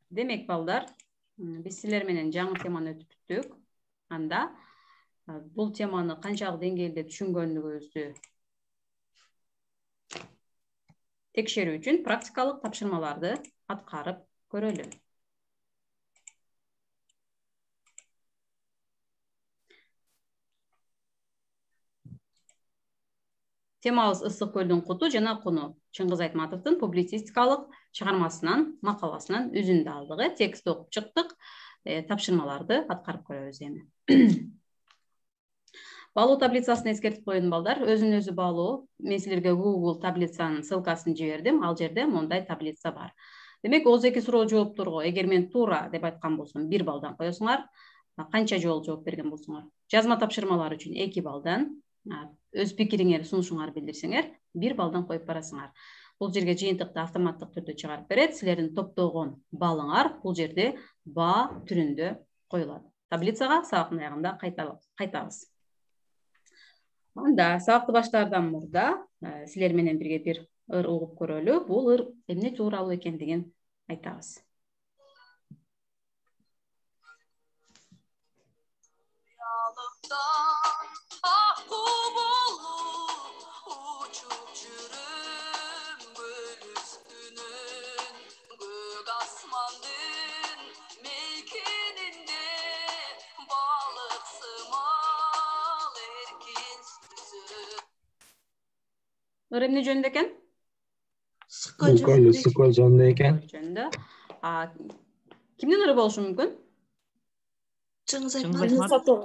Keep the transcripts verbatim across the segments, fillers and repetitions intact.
Демек балдар, биз силер менен жаңы теманы өтүп бүттүк. Анда бул теманы канчалык деңгээлде түшүнгөнүгүздү текшерүү үчүн практикалык тапшырмаларды аткарып көрөлү. Темабыз Ысык көлдүн куту жана куну. Чыңгыз Айтматовдун публицистикалык чыгармасынан, макаласынан үзүндү алдык. Текстти окуп чыктык. Тапшырмаларды аткарып көрөбүз эми. Балуу таблицасын эскертип коеюн балдар. Өзүн өзү балуу. Мен силерге Google таблицанын ссылкасын жибердим. Ал жерде мондай таблица бар. Демек, ооз эки суроо жоопторго эгер мен туура деп айткан болсом бир балдан коесуңар. Канча жолу жооп берген болсоңор? Жазма тапшырмалар үчүн эки балдан, өз пикириңер, сунушуңар билдирсеңер, бир балдан коюп барасыңар. Бул жерге жыйынтыкты автоматтык түрдө чыгарып берет. Силердин топтогон балыңар бул жерде баа түрүндө коюлат. Таблицага сабактын аягында кайтабыз. Анда сабакты баштаардан мурда силер менен бирге бир ыр угуп көрөлү. Бул ыр эмне тууралуу экендигин айтабыз. Ыр эмне жөнүндө экен? Ысык көл, Ысык көл жөнүндө экен. Кимдин ыры болушу мүмкүн? Чыңгыз Айтматов.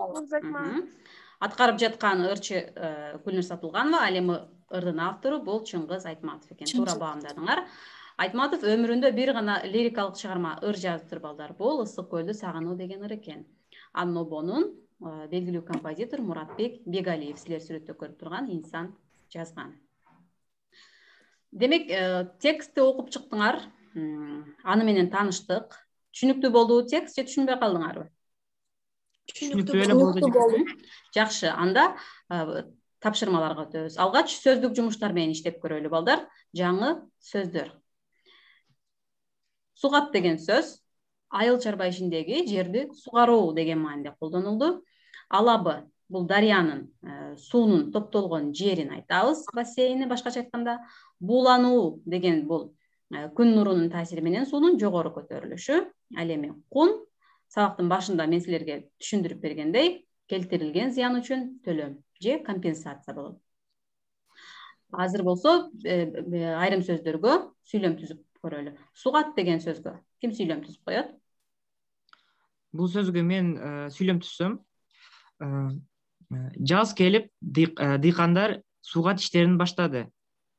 Аткарып жаткан ырчы Гүлнур Сатылганова, ал эми ырдын автору бул Чыңгыз Айтматов экен. Туура баамдадыңар. Айтматов өмүрүндө бир гана лирикалык чыгарма ыр жазыптыр балдар. Бул Ысык көлдү сагынуу деген ыр экен. Анын обонун белгилүү композитор Муратбек Бегалиев, силер сүрөттө көрүп турган инсан жазган. Демек, текстти окуп чыктыңар, аны менен тааныштык. Түшүнүктүү болдубу текст же түшүнбөй калдыңарбы? Түшүнүктүү эле болду. Жакшы, анда тапшырмаларга өтөбүз. Алгач сөздүк жумуштар менен иштеп көрөлү балдар. Жаңы сөздөр. Сугат деген сөз айыл чарба ишиндеги жерди сугаруу деген мааниде колдонулду. Алабы бул дарыянын суунун топтолгон жерин айтабыз, бассейни башкача айтканда. Буулануу деген бул күн нурунун таасири менен суунун жогору көтөрүлүшү. Ал эми кун сабактын башында мен силерге түшүндүрүп бергендей, келтирилген зыян үчүн төлөм же компенсация болот. Азыр болсо айрым сөздөргө сүйлөм түзүп көрөлү. Сугат деген сөзгө ким сүйлөм түзүп коет? Бул сөзгө мен сүйлөм түзсөм, жаз келип, дыйкандар сугат иштерин баштады.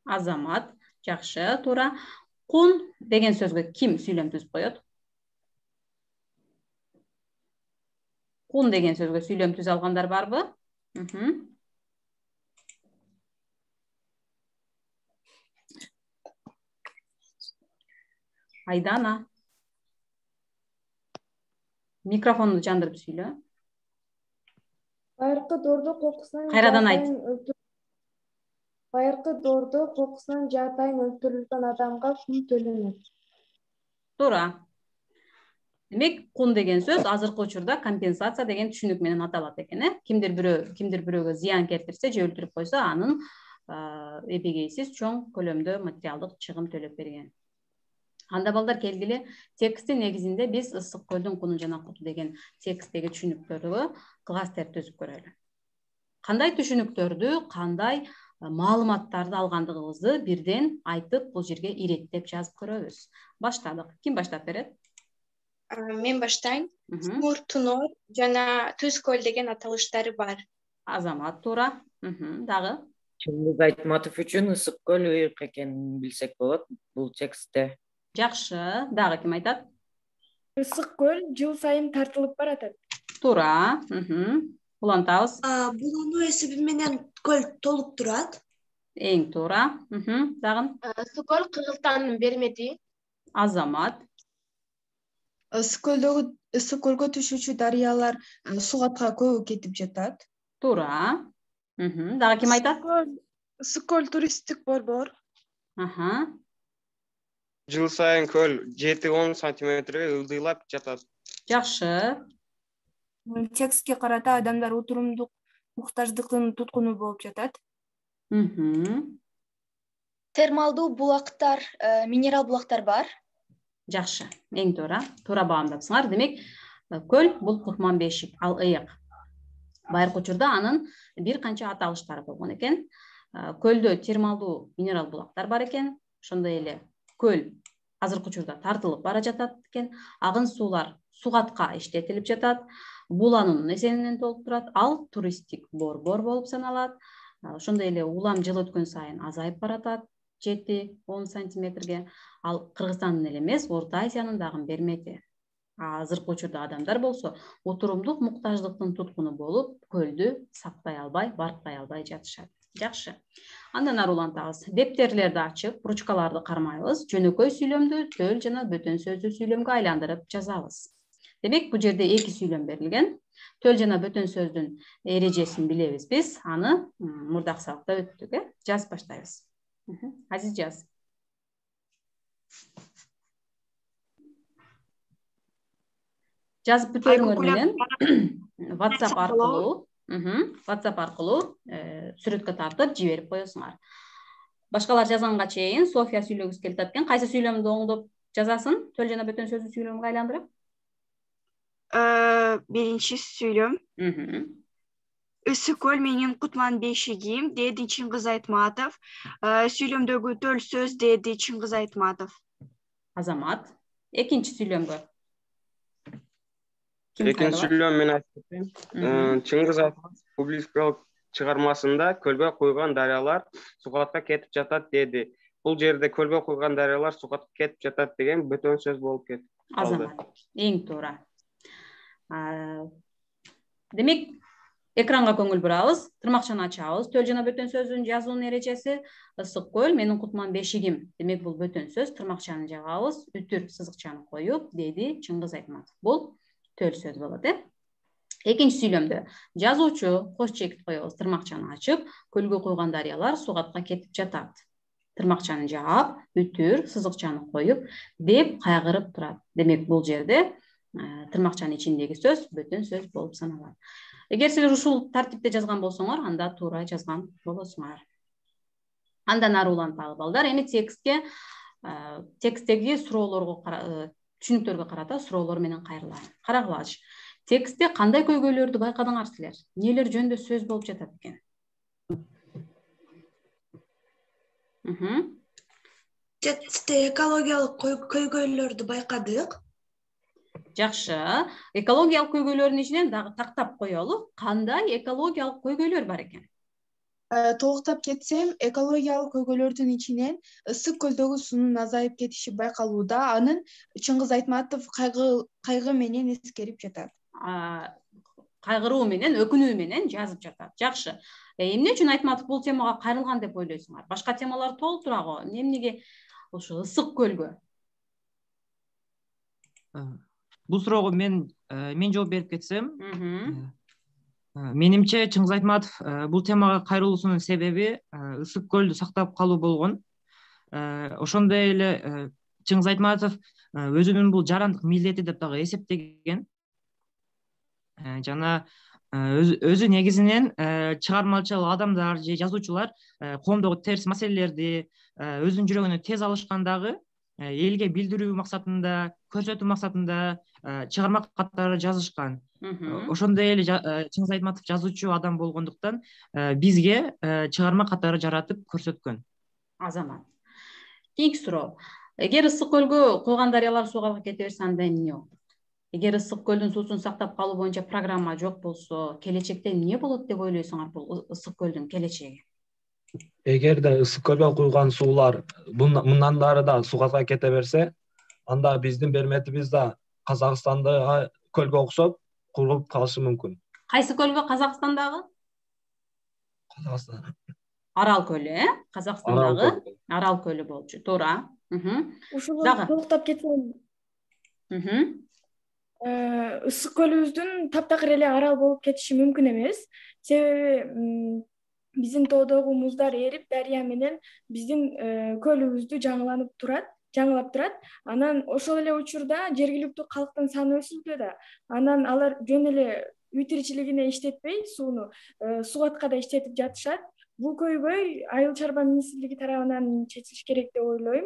Азамат, жакшы, туура. Кун деген сөзгө ким сүйлөм түзүп коет? Кун деген сөзгө сүйлөм түзүп алгандар барбы? Айдана. Микрофонду жандырып сүйлө. Байыркы доордо кокусунан Кайрадан айт. Байыркы доордо кокусунан жаатайын өлтүрүлгөн адамга кун төлөнөт. Туура. Демек, кун деген сөз азыркы учурда компенсация деген түшүнүк менен аталат экен, э? Кимдир бирөө, кимдир бирөөгө зыян келтирсе же өлтүрүп койсо, анын эбегейсиз чоң көлөмдө материалдык чыгым төлөп берген. Анда балдар келгиле, тексттин негизинде биз Ысык көлдүн куну жана куту деген тексттеги түшүнүктөргө кластер түзүп көрөлү. Кандай түшүнүктөрдү, кандай маалыматтарды алгандыгыбызды бирден айтып, бул жерге иреттеп жазып көрөбүз. Баштадык. Ким баштап берет? Мен баштайын. Сумур, Тунор жана Түз көл деген аталыштары бар. Азамат, туура. Дагы? Чыңгыз Айтматов үчүн Ысык көл ыйык экенин билсек болот бул текстте. Жакшы, дагы ким айтат? Ысык көл жыл сайын тартылып баратат. Туура. Улантабыз. Булануу эсеби менен көл толуп турат. Эң туура. Дагы? Ысык көл кыргызстандын бермети. Азамат. Ысык көлдөгү Ысык көлгө түшүүчү дарыялар сугатка көбү кетип жатат. Туура. Дагы ким айтат? Ысык көл туристтик борбор. жыл сайын көл жети он сантиметрге ылдыйлап жатат. Жакшы. Текстке карата адамдар отурумдук муктаждыктын туткуну болуп жатат. Мхм. Термалдуу булактар, минерал булактар бар. Жакшы. Эң туура. Туура баамдапсыңар. Демек, көл бул кутман бешик, ал ыйык. Байыркы учурда анын бир канча аталыштары болгон экен. Көлдө термалдуу минерал булактар бар экен. Ошондой эле көл азыркы учурда тартылып бара жатат экен. Агын суулар сугатка иштетилип жатат. Буланын эсебинен толуп турат. Ал туристтик борбор болуп саналат. Ошондой эле улам жыл өткөн сайын азайып баратат. жети он сантиметрге. Ал Кыргызстандын эле эмес, Орто Азиянын дагы бермети. Азыркы учурда адамдар болсо отурумдук муктаждыктын туткуну болуп, көлдү сактай албай, барктай албай жатышат. Жакшы. Андан ары улантабыз. Дептерлерди ачып, ручкаларды кармайбыз, жөнөкөй сүйлөмдү төл жана бөтөн сөздүү сүйлөмгө айландырып жазабыз. Демек, бул жерде эки сүйлөм берилген. Төл жана бөтөн сөздүн эрежесин билебиз биз. Аны мурдакы сабакта өттүк, э? Жазып баштайбыз. Азиз жаз. Жазып бүтөрүңөр менен WhatsApp аркылуу, WhatsApp аркылуу сүрөткө тартып жиберип коесуңар. Башкалар жазганга чейин София сүйлөгүсү келип жаткан. Кайсы сүйлөмдү оңдоп жазасын? Төл жана бөтөн сөздүү сүйлөмгө айландырып? Биринчи сүйлөм. Ысык көл менин кутман бешигим, деди Чыңгыз Айтматов. Сүйлөмдөгү төл сөз деди Чыңгыз Айтматов. Азамат. Экинчи сүйлөмгө. Экинчи сүйлөм мен айтып Чыңгыз Айтматов публицистикалык чыгармасында көлгө куйган дарыялар сугатка кетип жатат деди. Бул жерде көлгө куйган дарыялар сугатка кетип жатат деген бөтөн сөз болуп кетти. Азамат. Эң туура. Демек, экранга көңүл бурабыз, тырмакчаны ачабыз. Төл жана бөтөн сөздүн жазуунун эрежеси ысык көл менин кутман бешигим. Демек, бул бөтөн сөз, тырмакчаны жагабыз, үтүр сызыкчаны коюп, деди Чыңгыз Айтматов. Бул төл сөз болот, э? Экинчи сүйлөмдө жазуучу кош чекит коебуз, тырмакчаны ачып, көлгө куйган дарыялар сугатка кетип жатат. Тырмакчаны жаап, үтүр сызыкчаны коюп, деп кайгырып турат. Демек, бул жерде тырмакчанын ичиндеги сөз бөтөн сөз болуп саналат. Эгер силер ушул тартипте жазган болсоңор, анда туура жазган болосуңар. Андан ары уланталы балдар, эми текстке, тексттеги суроолорго, түшүнүктөргө карата суроолор менен кайрылайын. Карагылачы. Текстте кандай көйгөйлөрдү байкадыңар силер? Нелер жөнүндө сөз болуп жатат экен? Текстте экологиялык көйгөйлөрдү байкадык. Жакшы. Экологиялык көйгөйлөрдүн ичинен дагы тактап коелу. Кандай экологиялык көйгөйлөр бар экен? Толуктап кетсем, экологиялык көйгөйлөрдүн ичинен ысык көлдөгү суунун азайып кетиши байкалууда. Анын Чыңгыз Айтматов кайгы менен эскерип жатат. Кайгыруу менен, өкүнүү менен жазып жатат. Жакшы. Эмне үчүн Айтматов бул темага кайрылган деп ойлойсуңар? Башка темалар толуп турабы? Эмнеге ошо ысык көлгө? Бул суроого мен мен жооп берип кетсем, менимче Чыңгыз Айтматов бул темага кайрылуусунун себеби ысык көлдү сактап калуу болгон. Ошондой эле Чыңгыз Айтматов өзүнүн бул жарандык милдети деп дагы эсептеген. Жана өзү негизинен чыгармачыл адамдар же жазуучулар коомдогу терс маселелерди өзүнүн жүрөгүнө тез алышкандагы элге билдирүү максатында, көрсөтүү максатында чыгарма катары жазышкан. Ошондой эле Чыңгыз Айтматов жазуучу адам болгондуктан бизге чыгарма катары жаратып көрсөткөн. Азамат. Кийинки суроо. Эгер ысык көлгө куйган дарыялар сууга кете берсе, анда эмне болот? Эгер ысык көлдүн суусун сактап калуу боюнча программа жок болсо, келечекте эмне болот деп ойлойсуңар бул ысык көлдүн келечеги? Эгерде ысык көлгө куйган суулар мындан ары да сугатка кете берсе, анда биздин берметибиз да Казакстандагы көлгө окшоп курулуп калышы мүмкүн. Кайсы көлгө? Казакстандагы? Казакстан. Арал көлү, э? Казакстандагы Арал көлү болчу. Туура. Ушуну толуктап кетсем. Ысык көлүбүздүн таптакыр эле арал болуп кетиши мүмкүн эмес. Себеби биздин тоодогу муздар эрип, дарыя менен биздин көлүбүздү жаңыланып турат. жаңылап турат. Анан ошол эле учурда жергиликтүү калктын саны өсүүдө да. Анан алар жөн эле үй тиричилигине иштетпей, сууну сугатка да иштетип жатышат. Бул көйгөй Айыл чарба министрлиги тарабынан чечилиш керек деп ойлойм.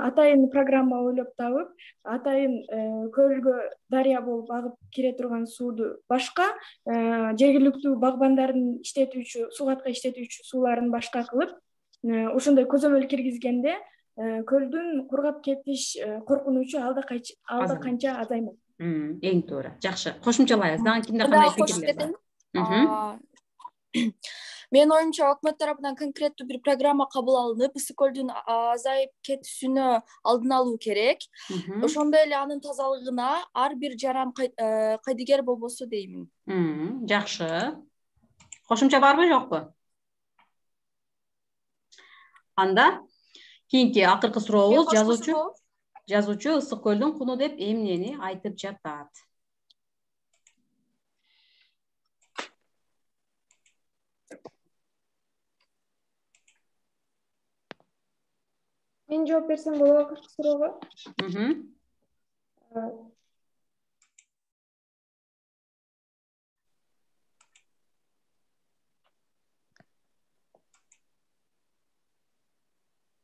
Атайын программа ойлоп табып, атайын көлгө дарыя болуп агып кире турган сууду башка, жергиликтүү багбандардын иштетүүчү, сугатка иштетүүчү сууларын башка кылып, ошондой көзөмөл киргизгенде көлдүн кургап кетиш коркунучу алда канча азаймак. Эң туура. Жакшы. Кошумчалайбыз. Дагы кимде кандай пикирлер бар? Менин оюмча, өкмөт тарабынан конкреттүү бир программа кабыл алынып, ысык көлдүн азайып кетүүсүнө алдын алуу керек. Ошондой эле анын тазалыгына ар бир жаран кайдыгер болбосо деймин. Жакшы. Кошумча барбы, жокпу? Анда кийинки акыркы сурообуз жазуучу жазуучу ысык көлдүн куну деп эмнени айтып жатат? Мен жооп берсем болобу акыркы суроого?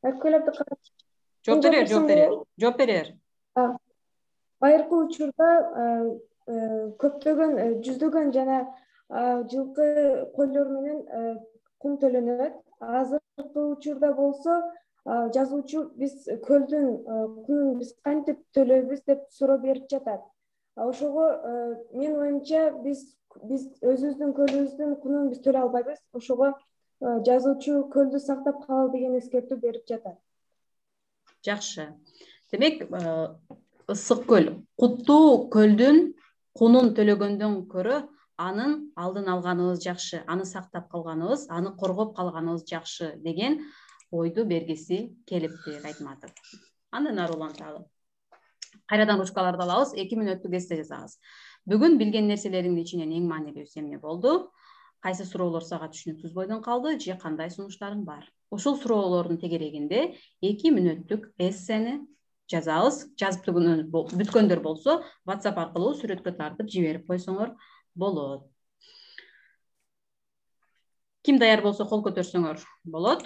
Айткөлөп карап. Жооп берер, жооп берер. Жооп берер. Байыркы учурда көптөгөн жүздөгөн жана жылкы койлор менен кум төлөнөт. Азыркы учурда болсо жазуучу биз көлдүн кунун биз кантип төлөйбүз деп суроо берип жатат. Ошого менин оюмча биз биз өзүбүздүн көлүбүздүн кунун биз төлөй албайбыз. Ошого жазуучу көлдү сактап калалы деген эскертүү берип жатат. Жакшы. Демек, ысык көл, куттуу көлдүн кунун төлөгөндөн көрө анын алдын алганыбыз жакшы, аны сактап калганыбыз, аны коргоп калганыбыз жакшы деген ойду бергиси келипти Айтматов. Андан ары уланталы. Кайрадан ручкаларды алабыз, эки мүнөттүк эссе жазабыз. Бүгүн билген нерселериңдин ичинен эң маанилүүсү эмне болду? Кайсы суроолор сага түшүнүксүз бойдон калды же кандай сунуштарың бар? Ушул суроолордун тегерегинде эки мүнөттүк эссени жазабыз. Жазып бүткөндөр болсо, WhatsApp аркылуу сүрөткө тартып жиберип койсоңор болот. Ким даяр болсо кол көтөрсөңөр болот.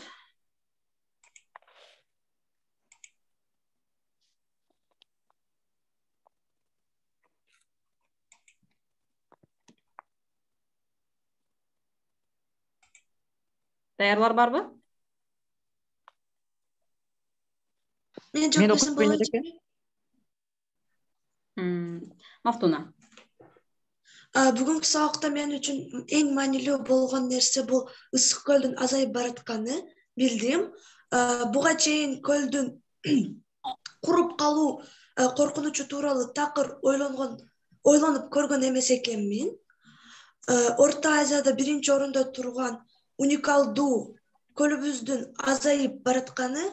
Даярлар барбы? Мен жооп берсем болот. Мафтуна. Бүгүнкү сабакта мен үчүн эң маанилүү болгон нерсе бул ысык көлдүн азайып баратканы билдим. Буга чейин көлдүн куруп калуу коркунучу тууралуу такыр ойлонгон ойлонуп көргөн эмес экенмин. Орто Азияда биринчи орунда турган уникалдуу көлүбүздүн азайып баратканы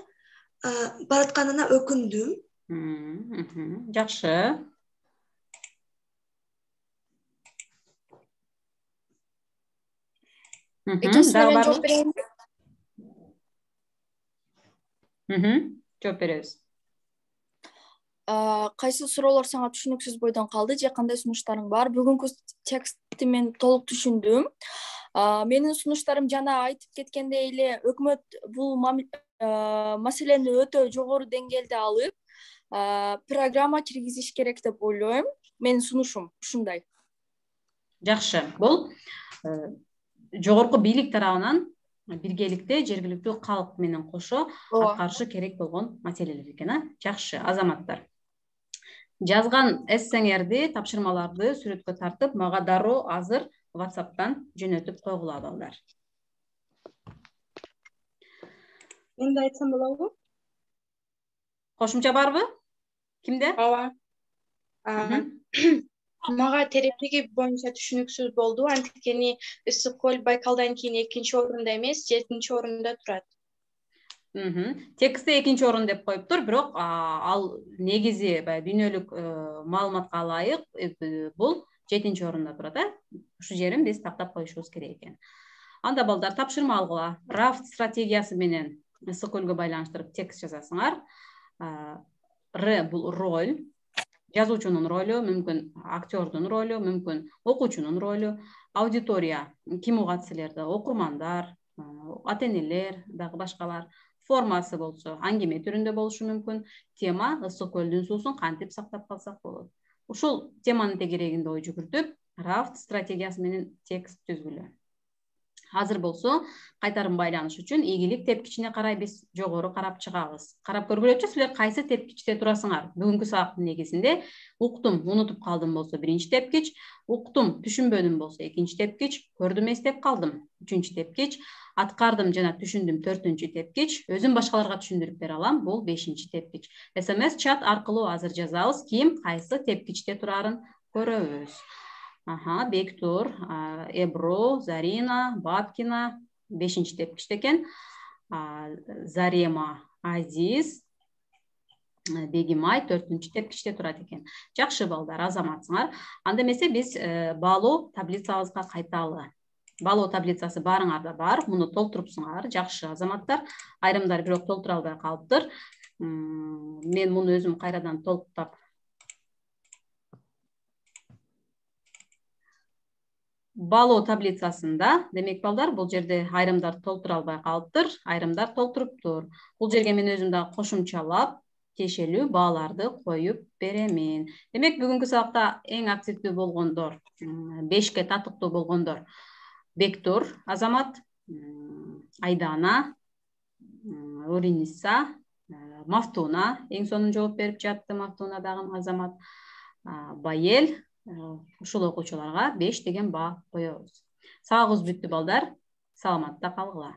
баратканына өкүндүм. Жакшы. Экинчисине мен жооп берейинби? Жооп беребиз. Кайсы суроолор сага түшүнүксүз бойдон калды же кандай сунуштарың бар? Бүгүнкү текстти мен толук түшүндүм. Менин сунуштарым жана айтып кеткендей эле өкмөт бул маселени өтө жогору деңгээлде алып, программа киргизиш керек деп ойлойм. Менин сунушум ушундай. Жакшы. Бул жогорку бийлик тарабынан биргеликте жергиликтүү калк менен кошо аткарышы керек болгон маселелер экен. Жакшы, азаматтар. Жазган эссеңерди, тапшырмаларды сүрөткө тартып, мага дароо азыр WhatsApp'тан жөнөтүп койгула балдар. Мен да айтсам болобу? Кошумча барбы? Кимде? Ооба. Мага тереңдиги боюнча түшүнүксүз болду. Анткени ысык көл Байкалдан кийин экинчи орунда эмес, жетинчи орунда турат. Текстте экинчи орун деп коюптур, бирок ал негизи дүйнөлүк маалыматка ылайык бул жетинчи орунда турат, э? Ушу жерин биз тактап коюшубуз керек экен. Анда балдар тапшырма алгыла. Рафт стратегиясы менен ысык көлгө байланыштырып текст жазасыңар. Р бул роль, жазуучунун ролу, мүмкүн актердун ролу, мүмкүн окуучунун ролу. Аудитория ким угат силерди? Окурмандар, ата энелер, дагы башкалар. Формасы болсо аңгеме түрүндө болушу мүмкүн. Тема ысык көлдүн суусун кантип сактап калсак болот. Ушул теманын тегерегинде ой жүгүртүп, рафт стратегиясы менен текст түзгүлө. Азыр болсо кайтарым байланыш үчүн ийгилик тепкичине карай биз жогору карап чыгабыз. Карап көргүлөчү, силер кайсы тепкичте турасыңар? Бүгүнкү сабактын негизинде уктум, унутуп калдым болсо биринчи тепкич, уктум, түшүнбөдүм болсо экинчи тепкич, көрдүм, эстеп калдым үчүнчү тепкич, аткардым жана түшүндүм төртүнчү тепкич, өзүм башкаларга түшүндүрүп бере алам, бул бешинчи тепкич. эс эм эс чат аркылуу азыр жазабыз, ким кайсы тепкичте турарын көрөбүз. Аха, Бектур, Эбро, Зарина, Бабкина бешинчи тепкичте экен. Зарема, Азиз, Бегимай төртүнчү тепкичте турат экен. Жакшы балдар, азаматсыңар. Анда эмесе биз баалоо таблицабызга кайталы. Баалоо таблицасы баарыңарда бар, муну толтурупсуңар, жакшы азаматтар. Айрымдар бирок толтура албай калыптыр. Мен муну өзүм кайрадан толуктап Баалоо таблицасында, демек балдар, бул жерде айрымдар толтура албай калыптыр, айрымдар толтуруптур. Бул жерге мен өзүм дагы кошумчалап, тиешелүү бааларды коюп беремин. Демек, бүгүнкү сабакта эң активдүү болгондор, бешке татыктуу болгондор: Бектур азамат, Айдана, Ориниса, Мафтуна, эң сонун жооп берип жатты, Мафтуна дагы азамат, Байел. Ушул окуучуларга беш деген баа коебуз. Сабагыбыз бүттү балдар. Саламатта калгыла.